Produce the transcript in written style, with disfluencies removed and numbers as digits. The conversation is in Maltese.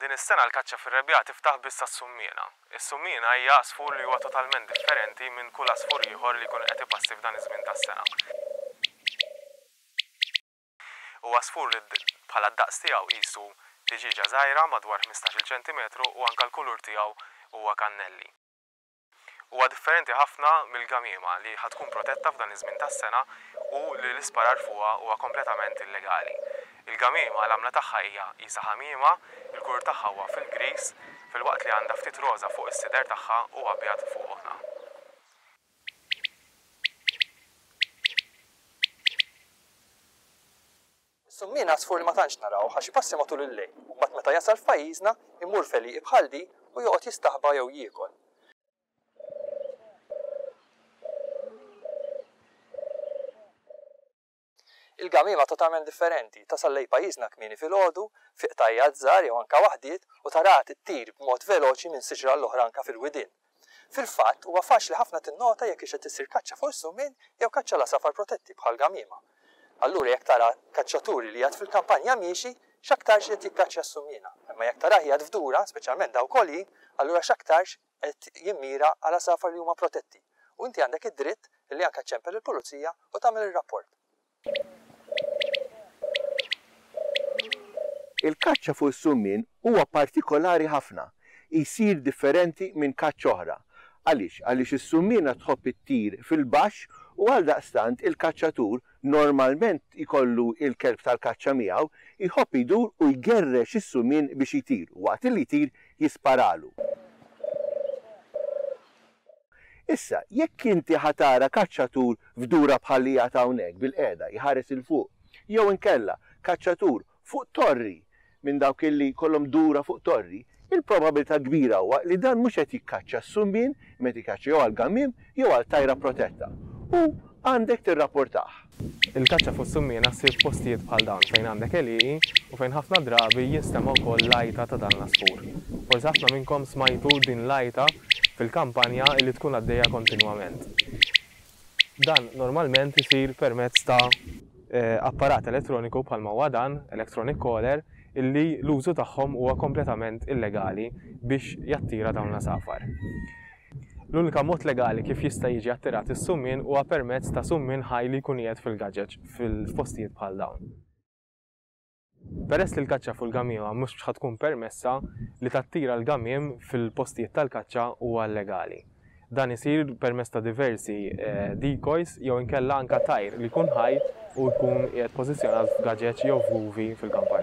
Din is-sena l-kaċċa fir-rebbiegħa tiftaħ biss għas-summiena. Is-summiena hija għasfur li huwa totalment differenti minn kull għasfur ieħor li jkun qed ipassi f'dan iż-żmien tas-sena. Huwa għasfur li bħala d-daqs tiegħu qisu tiġieġa żgħira madwar 15-il ċentimetru u anke l-kulur tiegħu huwa kannelli. Huwa differenti ħafna mill-gamiema li ħa tkun protetta f'dan iż-żmien tas-sena u li l-isparar fuqha huwa kompletament illegali. Il-gamiema l-għamla tagħha hija qisha ħamiema, il-kulur tagħha huwa fil-griż filwaqt li għandha ftit roża fuq is-sider tagħha u abjad fuq għonqha. Is-summien għasfur li ma tantx narawh għax ipassi matul il-lejl u mbagħad meta jasal f'pajjiżna imur f'għelieqi bħal di u joqgħod jistaħba jew jiekol. Il-gamiema totalment differenti, tasal lejn pajjiżna kmieni filgħodu, fi qtajjat żgħar jew anke waħdiet u taraha tittir b'mod veloċi minn siġra għall-oħra anke fil-widien. Fil-fatt, huwa faċli ħafna tinnota jekk hix qed issir kaċċa fuq is-summien jew kaċċa l-għasafar protetti bħall-gamiema. Allura jekk tara kaċċaturi li qiegħed fil-kampanja miexi, x'aktarx li qed jikkaċċja s-summiena. Imma jekk tarah qiegħed f'dura, speċjalment dawk għoljin, allura x'aktarx qed jimmira għal għasafar li huma protetti. U inti għandek id-dritt li anke ċċempel lill-pulizija u tagħmel ir-rapport. Il-kaċċa fuq is-summien huwa partikolari ħafna, jsir differenti minn kaċċa oħra. Għaliex? Għaliex is-summiena tħobb ittir fil-baxx u għaldaqstant il-kaċċatur normalment jkollu l-kelb tal-kaċċa miegħu, jħobb jdur u jgerrex is-summien biex jtir u waqt li jtir jisparalu. Issa, jekk inti ħa tara kaċċatur f'dura bħal li qiegħed hawnhekk bilqiegħda jħares 'il fuq, jew inkella kaċċatur fuq torri minn dawk illi jkollhom dura fuq torri, il-probabilità kbira huwa li dan mhux qed jikkaċċa s-summien imma qed jikkaċċa jew għall-gammiem jew għal tajra protetta. U għandek tirrapportah. Il-kaċċa fuq is-summiena ssir f'postijiet bħal dawn fejn għandek għelieqi u fejn ħafna drabi jinstema' wkoll l-għajta ta' dan l-għasfur. Forsi ħafna minnkom smajtu din l-għajta fil-kampanja illi tkun għaddejja kontinwament. Dan normalment isir permezz ta' apparat elettroniku bħalma huwa dan, electronic caller, illi l-użu tagħhom huwa kompletament illegali biex jattira dawn l-għasafar. L-unika mod legali kif jista' jiġi attirat is-summien huwa permezz ta' summien ħaj li jkun qiegħed fil-gaġeġ f'postijiet bħal dawn. Peress li l-kaċċa fuq il-gamiema mhux ħa tkun permessa, li tattira l-gamiem fil-postijiet tal-kaċċa huwa llegali. Dan isir permezz ta' diversi decoys jew inkella anke tajr li jkun ħaj u jkun qiegħed pożizzjonat f'gaġeġ jew f'guvi fil-kampanja.